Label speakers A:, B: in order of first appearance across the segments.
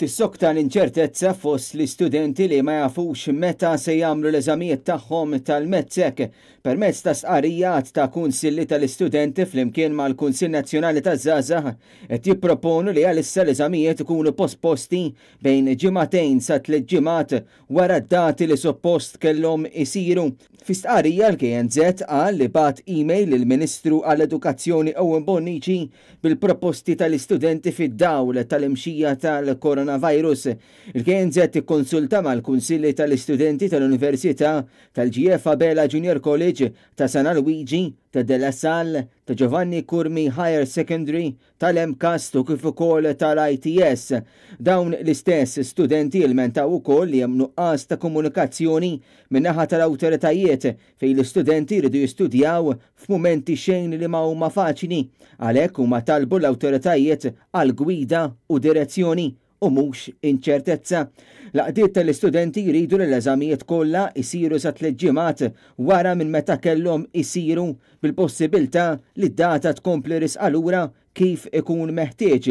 A: Tissokta l-inċertezza fost l-istudenti li ma jafux meta se jagħmlu l-eżamijiet tagħhom tal-MATSEC. Permezz ta' stqarrija għadd ta' kunsilli tal-istudenti flimkien mal-Kunsill Nazzjonali taż-Żgħażagħ qed jipproponu li għalissa l-eżamijiet ikunu posposti bejn ġimagħtejn sa tliet ġimgħat wara d-dati li suppost kellhom isiru. Fi stqarrija l-KNŻ qal li bagħat email lill-Ministru għall-Edukazzjoni Owen Bonnici bil-proposti tal-istudenti fid-dawl tal-imxija tal-coronavirus. Il-KNŻ ikkonsulta mal-Kunsilli tal-Istudenti tal-Università, tal-GF Abela Junior College, ta' San Alwiġi, ta' De La Salle, ta' Giovanni Curmi Higher Secondary, tal-MCAST u kif ukoll tal-ITS. Dawn l-istess studenti ilmentaw ukoll li hemm nuqqas ta' komunikazzjoni min-naħa tal-awtoritajiet fejn l-istudenti jridu jistudjaw f'mumenti xejn li ma huma faċli. Għalhekk huma talbu l-awtoritajiet għal gwida u direzzjoni u mhux inċertezza. L-għaqdiet tal-istudenti jridu li l-eżamijiet kollha jsiru sa tliet ġimgħat wara minn meta kellhom isiru bil-possibilità li d-data tkompli risqa lura kif ikun meħtieġ.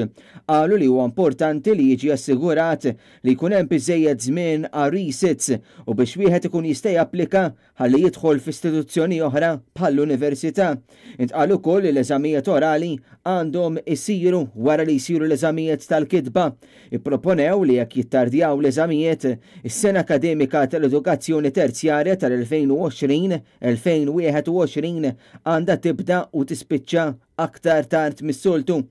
A: Qalu li huwa importanti li jiġi assigurat li jkun hemm biżżejjed żmien għar-resits u biex wieħed ikun jista' japplika ħalli jidħol f'istituzzjoni oħra bħall-università. Intqal ukoll li l-eżamijiet orali għandhom isiru wara li jsiru l-eżamijiet tal-kitba. Ipproponew li jekk jittardjaw l-eżamijiet, is-sena akademika tal-edukazzjoni terzjarja tal-2020, 2021 għandha tibda u tispiċċa aktar tard mis-soltu.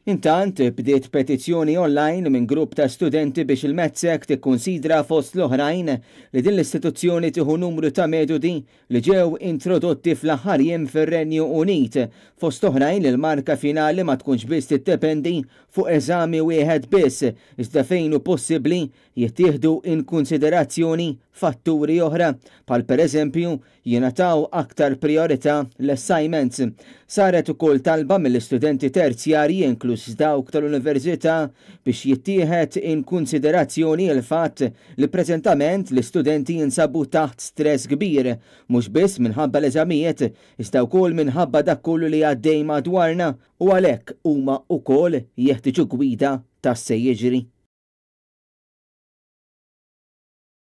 A: Intant, bdiet petizzjoni online minn grupp ta' studenti biex il-MATSEC tikkunsidra fost l-oħrajn li din l-istituzzjoni tieħu numru ta' metodi li ġew introdotti fl-aħħar jiem fir-Renju Unit, fost oħrajn li l-marka finali ma tkunx biss tiddependi fuq eżami wieħed biss, iżda fejn hu possibbli jittieħdu in kunsiderazzjoni fatturi oħra, bħal pereżempju jingħataw aktar prijorità l-assignments. Saret ukoll talba mill-istudenti terzjarji inkluż dawk tal-università biex jittieħed in kunsiderazzjoni l-fatt li preżentament l-istudenti jinsabu taħt stress kbir, mhux biss minħabba l-eżamijiet iżda wkoll minħabba dak kollu li għaddej madwarna u għalhekk huma wkoll jeħtieġu gwida ta' x'se jiġri.